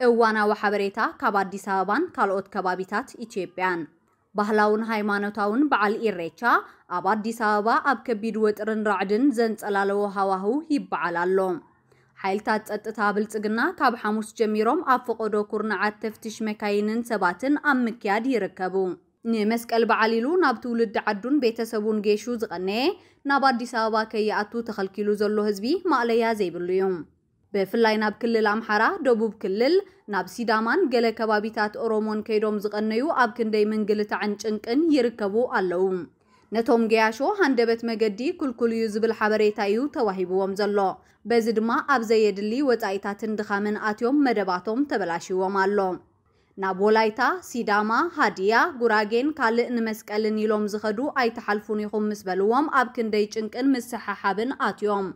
እዋናዊ ሓበሬታ ካብ ኣዲስ ኣበባን ካልኦት ከባቢታት ኢትዮጵያን። ባህላውን ሃይማኖታውን በዓል ኢሬቻ ኣብ ኣዲስ ኣበባ ኣብ ከቢድ ወጥርን ራዕድን ዘንጸላለዎ ሃዋህው ይበዓል ኣሎ። ሓይልታት ጸጥታ ብልጽግና ካብ ሓሙስ ጀሚሮም ኣብ ፈቐዶ ኩርናዓት ተፍትሽ መካይንን ሰባትን ኣብ ምክያድ ይርከቡ። ንመስቀል በዓል ኢሉ ናብ ትውልዲ ዓዱን ቤተሰቡን ጌሹ ዝቐነየ፣ ናብ ኣዲስ ኣበባ ከይኣቱ ተኸልኪሉ ዘሎ ህዝቢ ማእለያ ዘይብሉ እዩ። ብፍላይ ናብ ክልል ኣምሓራ፣ ደቡብ ክልል፣ ናብ ሲዳማን ገለ ከባቢታት ኦሮሞን ከይዶም ዝቐነዩ ኣብ ክንደይ ምንግልታዕን ጭንቅን ይርከቡ ኣለዉ። ነቶም ገያሾ ሃንደበት መገዲ ክልኩል እዩ ዝብል ሓበሬታ እዩ ተዋሂብዎም ዘሎ። በዚ ድማ ኣብ ዘየድሊ ወጻኢታትን ድኻምን ኣትዮም መደባቶም ተበላሽዎም ኣሎ። ናብ ወላይታ፣ ሲዳማ፣ ሃዲያ፣ ጉራጌን ካልእ ንመስቀልን ኢሎም ዝኸዱ ኣይትሓልፉን ኢኹም ምስ በልዎም ኣብ ክንደይ ጭንቅን ምስሕሓብን ኣትዮም።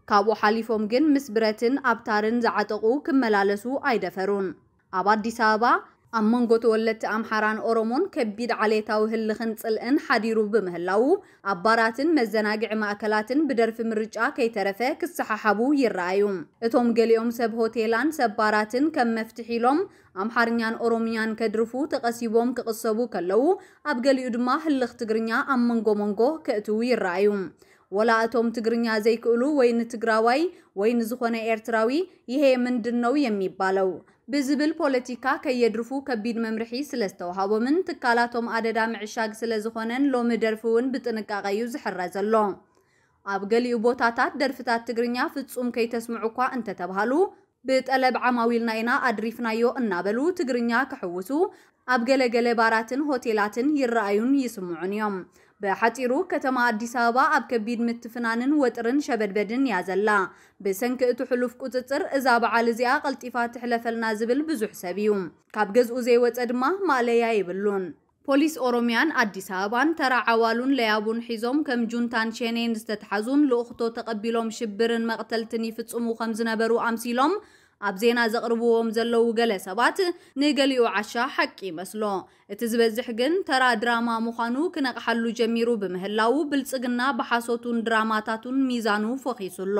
ካብኡ ሓሊፎም ግን ምስ ብረትን ኣብታርን ዝዓጠቑ ክመላለሱ ኣይደፈሩን። ኣብ ኣዲስ ኣበባ ኣብ መንጎ ተወለድቲ ኣምሓራን ኦሮሞን ከቢድ ዓሌታዊ ህልኽን ጽልእን ሓዲሩ ብምህላዉ ኣብ ባራትን መዘናግዒ ማእከላትን ብደርፊ ምርጫ ከይተረፈ ክሰሓሓቡ ይረኣዩ። እቶም ገሊኦም ሰብ ሆቴላን ሰብ ባራትን ከም መፍትሒ ኢሎም ኣምሓርኛን ኦሮምኛን ከድርፉ ተቐሲቦም ክቕሰቡ ከለዉ፣ ኣብ ገሊኡ ድማ ህልኽ ትግርኛ ኣብ መንጎ መንጎ ከእትዉ ይረኣዩ። ወላ እቶም ትግርኛ ዘይክእሉ ወይ ንትግራዋይ ወይ ንዝኾነ ኤርትራዊ ይሄ ምንድን ነው የሚባለው ብዝብል ፖለቲካ ከየድርፉ ከቢድ መምርሒ ስለ ዝተውሃቦምን ትካላቶም ኣደዳ ምዕሻግ ስለ ዝኾነን ሎሚ ደርፊ እውን ብጥንቃቐ እዩ ዝሕረ ዘሎ። ኣብ ገሊኡ ቦታታት ደርፍታት ትግርኛ ፍጹም ከይተስምዑ እኳ እንተተብሃሉ፣ ብጠለብ ዓማዊልና ኢና ኣድሪፍናዮ እናበሉ ትግርኛ ክሕውሱ ኣብ ገለገለ ባራትን ሆቴላትን ይረኣዩን ይስምዑን እዮም። ብሓጺሩ፣ ከተማ ኣዲስ ኣበባ ኣብ ከቢድ ምትፍናንን ወጥርን ሸበድበድን እያ ዘላ። ብሰንኪ እቲ ሕሉፍ ቁጽጽር፣ እዛ በዓል እዚኣ ቀልጢፋ ትሕለፈልና ዝብል ብዙሕ ሰብ እዩ። ካብ ገዝኡ ዘይወጸ ድማ ማእለያ የብሉን። ፖሊስ ኦሮሚያን ኣዲስ ኣበባን ተራ ዓዋሉን ለያቡን ሒዞም ከም ጁንታን ሸኔን ዝተትሓዙን ልኡኽቶ ተቐቢሎም ሽብርን መቕተልትን ይፍጽሙ ከም ዝነበሩ ኣምሲሎም ኣብ ዜና ዘቕርብዎም ዘለዉ ገለ ሰባት፣ ንገሊኡ ዓሻ ሓቂ ይመስሎ። እቲ ዝበዝሕ ግን ተራ ድራማ ምዃኑ ክነቕሓሉ ጀሚሩ ብምህላዉ፣ ብልጽግና ብሓሶቱን ድራማታቱን ሚዛኑ ፈኺሱ ኣሎ።